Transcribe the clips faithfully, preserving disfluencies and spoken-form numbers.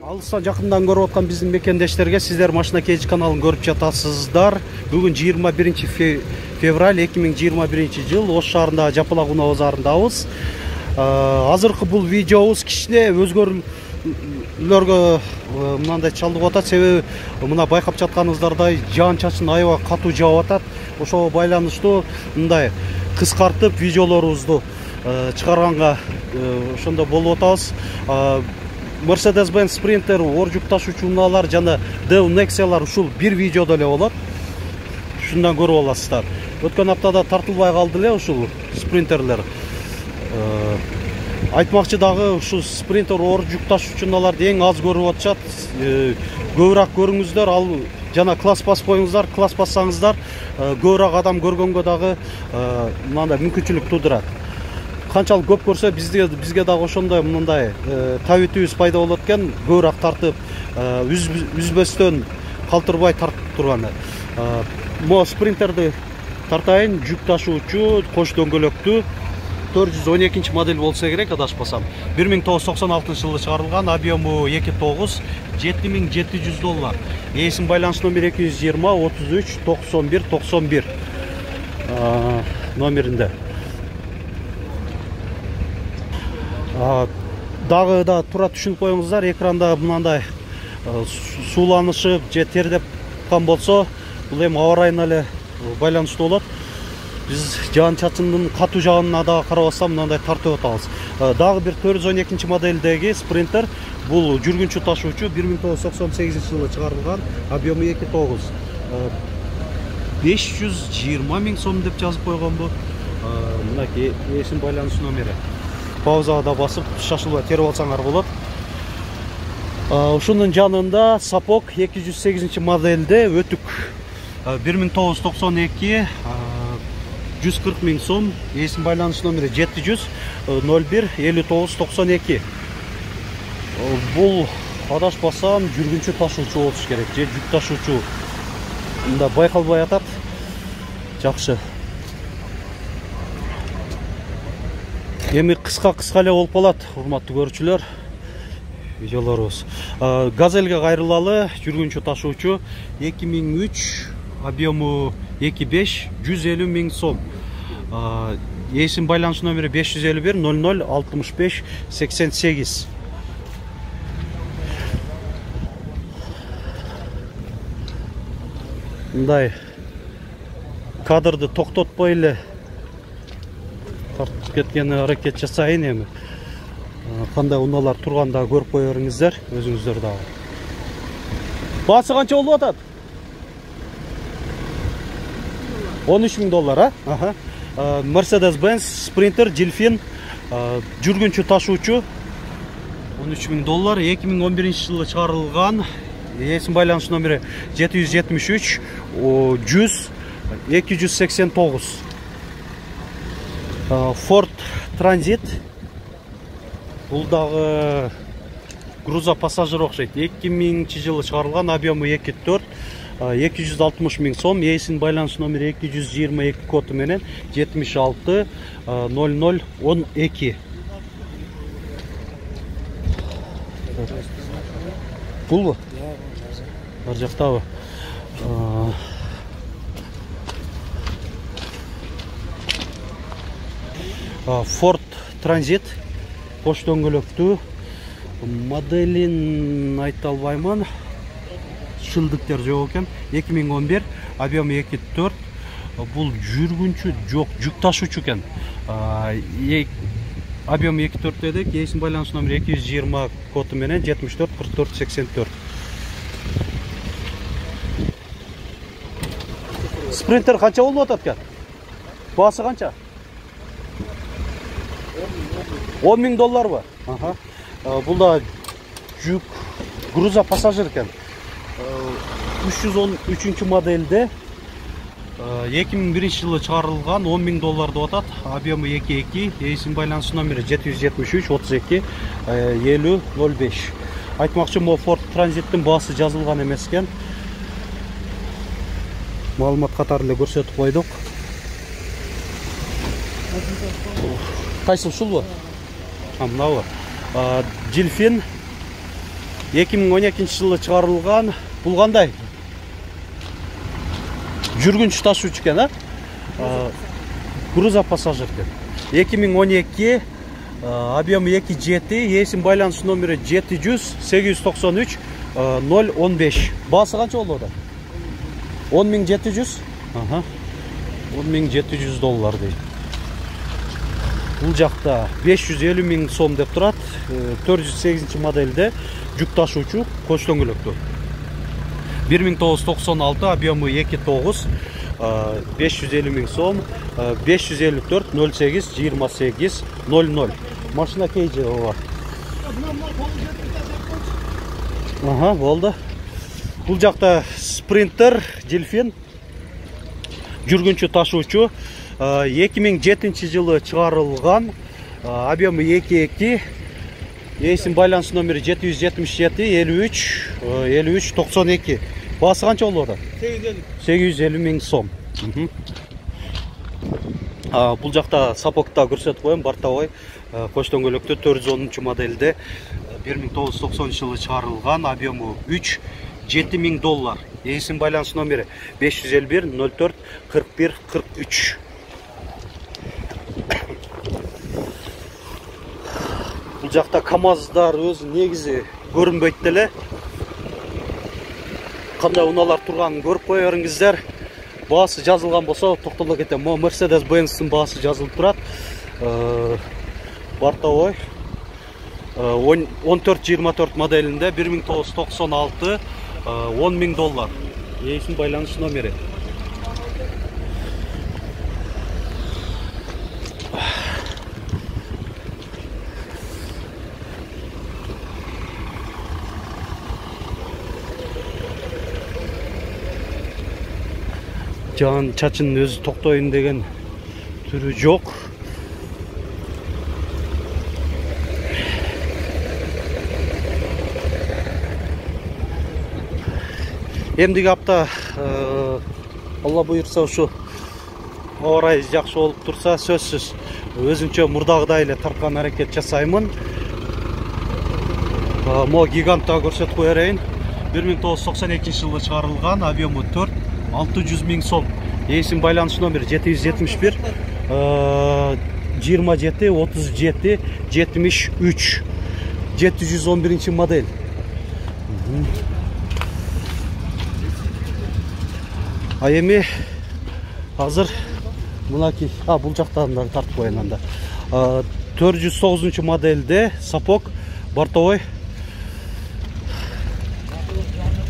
Алыстан жакындан көрүп аткан биздин мекендештерге сиздер Машина Кеж каналын көрүп жатасыздар. Бүгүн жыйырма биринчи февраль эки миң жыйырма биринчи жыл Ош шаарындагы Жапалак унаа базарындабыз. Азыркы бул видеобуз кичине өзгөрүүлөргө мындай чалдыгып атат. Себеби мына байкап жатканыңыздардай жаан чачын аябай катуу жаап атат. Ошого байланыштуу мындай кыскартып видеолорубузду чыгарганга ошондо болуп атабыз. Mercedes-Benz Sprinter, ор жүк ташуучу унаалар жана Deo Nexia'лар ушул бир видеодо эле болот. Ушундан көрүп аласыздар. Өткөн аптада тартылбай калды эле ушул спринтерлер. Айтмакчы дагы ушул Sprinter ор жүк ташуучу унааларды эң аз көрүп атышат. Көбүрөөк көрүңүздөр, ал жана класс бас коюңуздар, класс бассаңыздар, көбүрөөк адам көргөнгө дагы мындай мүмкүнчүлүк туудурат. Канчалык көп көрсө бизге бизге дагы ошондой мындай табитибиз пайда болот экен, көбүрөөк тартып, үзбөстөн калтырбай тартып турганы. Мо спринтерди тартайын, жүк ташуучу, кош дөңгөлөктүү төрт жүз он экинчи модель болсо керек, адашпасам. бир миң тогуз жүз токсон алтынчы жылы чыгарылган, объему эки тогуз, жети миң жети жүз доллар. Эсин байланыш номер эки жүз жыйырма отуз үч токсон бир токсон бир номеринде. Дагы да туура түшүнүп коюңуздар, экранда мындай сууланышып же тердеп калган болсо, бул эми аба ырайына эле байланыштуу болот. Биз жаан чачындын катуу жагына дагы карабастан мындай тартып атабыз. Дагы бир төрт жүз он экинчи модельдеги спринтер, бул жүргүнчү ташуучу, бир миң тогуз жүз токсон сегизинчи жылы чыгарылган, объему эки тогуз. беш жүз жыйырма миң сом деп жазып койгон бу. Мынакей эсин байланыш номери. Паузага да басып, шашылбай терип алсаңар болот. Ушунун жанында сапог эки жүз сегизинчи модельде өтүк. бир миң тогуз жүз токсон эки, жүз кырк миң сом, эсин байланыш номери жети жүз ноль бир элүү тогуз токсон эки. Бул адашпасам жүргүнчү ташуучу болуш керек, же жүк ташуучу. Мында байкалбай атат. Жакшы. Эми кыска-кыска эле болуп калат, урматтуу көрүүчүлөр. Видеолорубуз. Газельге кайрылалы, жүргүнчү ташуучу эки миң үч, объему эки беш, жүз элүү миң сом. Эсин байланыш номери беш жүз элүү бир ноль ноль алтымыш беш сексен сегиз. Мындай кадрды токтотпой эле тартып кеткени аракет жасайын эми. Кандай унаалар турганда көрүп кое бериңиздер, өзүңүздөр дагы. Баасы канча болуп атат? он үч миң доллар, а? Mercedes-Benz Sprinter Delfin жүргүнчү ташуучу он үч миң доллар, эки миң он биринчи жылы чыгарылган. Эсин байланыш номери жети жүз жетимиш үч жүз эки жүз сексен тогуз. Ford Transit. Бул дагы груза пассажир окшойт. эки миңинчи жылы чыгарылган, объему эки төрт, эки жүз алтымыш миң сом. Эсин байланыш номери эки жүз жыйырма эки коду менен жетимиш алты ноль ноль он эки. Булбу? Бар жактабы? Ford Transit, кош дөңгөлөктүү, моделин айта албайман, шылдыктар жок экен, эки миң он бир, объему эки төрт, бул жүргүнчү жок, жүк ташуучу экен. Объему эки төрт дедик, эсин байланыш номери эки жүз жыйырма коду менен жетимиш төрт кырк төрт сексен төрт. Спринтер канча болуп атат экен? Баасы канча? он миң долларбы? Аха. Бул да жүк груза пассажир экен. үч жүз он үчүнчү модельде эки миң биринчи жылы чыгарылган, он миң доллар деп атат. Объему эки эки, эсин байланыш номери жети жүз жетимиш үч отуз эки элүү ноль беш. Айтмакчы, мо Ford Transittин баасы жазылган эмес экен. Маалымат катары эле көрсөтүп койдук. Кайсы ушулбу? мынабы Дельфин эки миң он экинчи жылы чыгарылган. Бул кандай? Жүргүнчү ташуучу экен, а? Грузопассажир экен. эки миң он эки, объему эки жети, эсим байланыш номери жети жүз сегиз жүз токсон үч ноль он беш. Баасы канча болду? он миң жети жүз. Ага. он миң жети жүз доллар дейт. Бул жакта беш жүз элүү миң сом деп турат. төрт жүз сегизинчи модельде жүк ташуучу коч дөңгөлөктүү. бир миң тогуз жүз токсон алты, объему эки тогуз, беш жүз элүү миң сом, беш жүз элүү төрт ноль сегиз жыйырма сегиз ноль ноль. Машина кейжи ооба. Ага, болду. Бул жакта Спринтер, Дельфин, жүргүнчү ташуучу, эки миң жетинчи жылы чыгарылган, объему эки эки, эсим байланыш номери жети жүз жетимиш жети элүү үч элүү үч токсон эки. Баасы канча болду? сегиз жүз элүү миң сом. Бул жакта сапокта көрсөтүп коем, бортовой коч дөңгөлөктө төрт жүз онунчу модельде бир миң тогуз жүз токсонунчу жылы чыгарылган, объему үч жети миң доллар. Эсим байланыш номери беш жүз элүү бир ноль төрт кырк бир кырк үч. Бул жакта КамАЗдар өзү негизи көрүнбөйт деле. Кандай унаалар турганын көрүп кое бериңиздер. Баасы жазылган болсо токтоло кетем. Мо Mercedes-Benz'ин баасы жазылып турат. Бортовой он төрт жыйырма төрт моделинде бир миң тогуз жүз токсон алты, он миң доллар. Эсим байланыш номери. Жан чачын өзү токтойын деген түрү жок. Эмдиги апта Алла буйрса ушу аба ырайы жакшы болуп турса, сөзсүз өзүмчө мурдагыдай эле тарткан аракет жасаймын. Мо гигантта көрсөтүп кое берейин. бир миң тогуз жүз токсон экинчи жылы чыгарылган, объему төрт алты жүз миң сом. Эсим байланыш номери жети жүз жетимиш бир жыйырма жети отуз жети жетимиш үч. жети жүз он биринчи модель. А эми азыр мынакей, а бул жактан да тартып коеюн анда. төрт жүз тогузунчу модельде сапок бортовой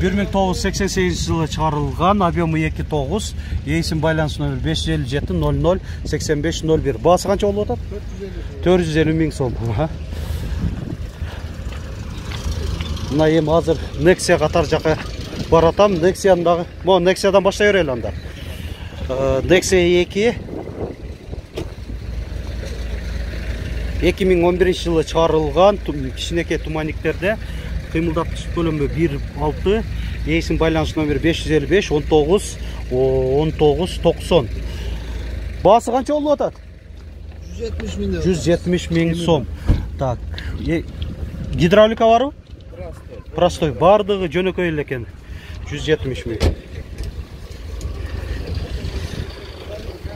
бир миң тогуз жүз сексен сегизинчи жылы чыгарылган, объему эки тогуз, эсим байланыш номери беш жүз элүү жети ноль ноль сексен беш ноль бир. Баасы канча болуп атат? төрт жүз элүү миң сом. Мына эми азыр Nexia катар жака баратам. Nexia дагы, мо Nexiaдан баштай берели анда. Nexia эки эки миң он биринчи жылы чыгарылган, кичинекей туманниктерде, кыймылдаткыч көлөмү бир алты, эсим байланыш номери беш жүз элүү беш он тогуз он тогуз токсон. Баасы канча болуп атат? жүз жетимиш миң сом. Так, гидравлика барбы? Простой. Бардыгы жөнөкөй эле экен. жүз жетимиш миң.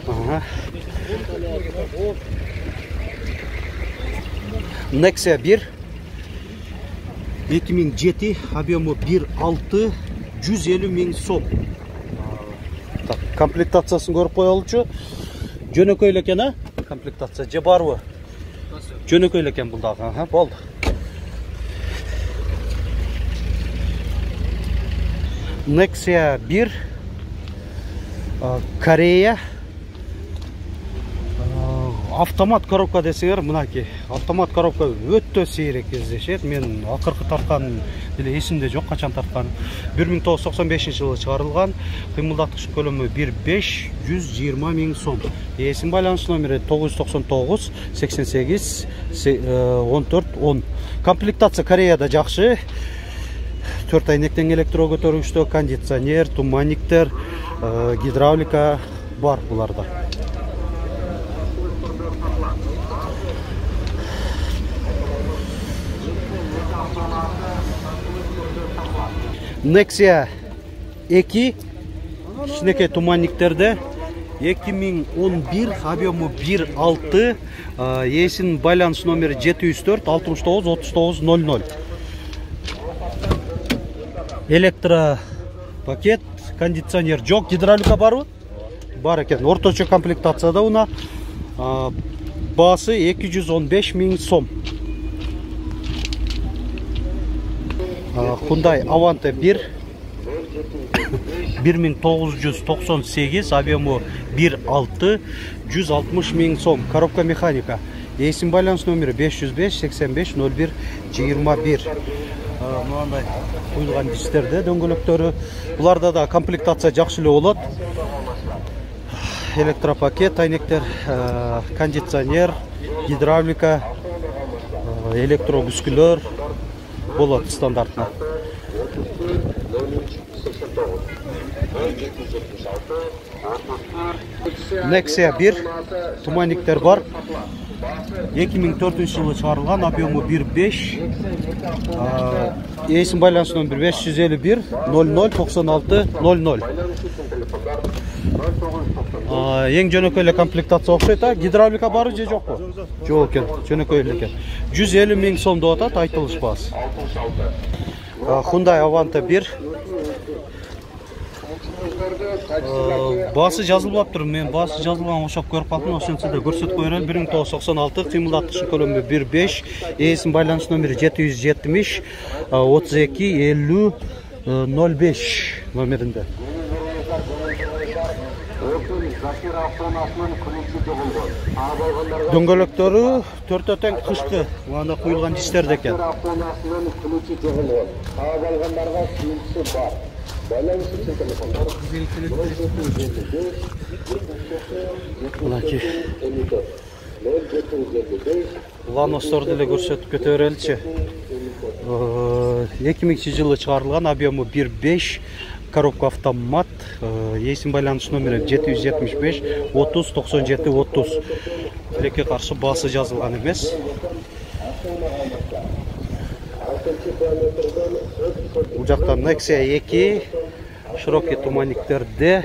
Ага. Nexia бир эки миң жети, объему бир алты, жүз элүү миң сом. Так, комплектациясын көрүп коелучу. Жөнөкөй эле экен, а? Комплектация же барбы? Жөнөкөй эле экен бул дагы. Ага, болду. Nexia бир Корея автомат коробка десеңер, мынакей автомат коробка өтө сейрек кездешет. Мен акыркы тарткан деле эсимде жок, качан тарткан. бир миң тогуз жүз токсон бешинчи жылы чыгарылган, кыймылдаткыч көлөмү бир беш жүз жыйырма миң сом. Эсим байланыш номери тогуз жүз токсон тогуз сексен сегиз он төрт он. Комплектация Кореяда жакшы. төрт айнектен электро көтөргүчтө, кондиционер, туманниктер, гидравлика бар буларда. Nexia эки кичинекей туманниктерде эки миң он бир, объему бир алты, ээсинин байланыш номери жети жүз төрт алтымыш тогуз отуз тогуз ноль ноль. Электро пакет, кондиционер жок, гидравлика барбы? Бар экен. Орточо комплектацияда уна. Баасы эки жүз он беш миң сом. Hyundai Avante бир бир миң тогуз жүз токсон сегиз, объему бир алты, жүз алтымыш миң сом. Коробка механика. Ээсинин байланыш номери беш жүз беш сексен беш ноль бир жыйырма бир. Мындай куюлган дистерде дөңгөлөктөрү. Буларда да комплектация жакшы эле болот. Электропакет, айнектер, кондиционер, гидравлика, электробүскүлөр болот стандартына. Nexia бир туманниктер бар. эки миң төртүнчү жылы чыгарылган, объему бир беш. Ээсинин байланыш номери беш жүз элүү бир ноль ноль токсон алты ноль ноль. Эң жөнөкөй эле комплектация окшойт, а гидравлика бары же жокпу? Жок экен, жөнөкөй эле экен. жүз элүү миң сом деп атат айтылыш баасы. Hyundai Avante бир. Баасы жазылбаптыр. Мен баасы жазылган окшоп көрүп калдым. Ошентсе да көрсөтүп коелу. бир миң тогуз жүз токсон алты, кыймылдаткыч көлөмү бир беш, ээсинин байланыш номери жети жүз жетимиш отуз эки элүү ноль беш номеринде. Дөңгөлөктөрү төртө тең кышкы, мында куюлган дистерде экен. Мынакей Lanos'торду эле көрсөтүп кете береличи. эки миңинчи жылы чыгарылган, объему бир беш, коробка автомат, ээсинин байланыш номери жети жүз жетимиш беш отуз токсон жети отуз. Тилекке каршы баасы жазылган эмес. Бул жакта Nexia эки широкий туманниктерде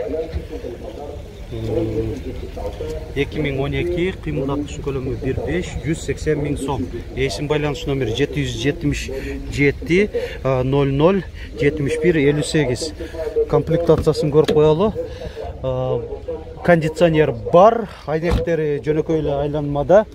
эки миң он эки, кыймылдаткыч көлөмү бир беш, жүз сексен миң сом. Ээсинин байланыш номери жети жүз жетимиш жети ноль ноль жетимиш бир элүү сегиз. Комплектациясын көрүп коелу. Кондиционер бар, айнектери жөнөкөй эле айланмада.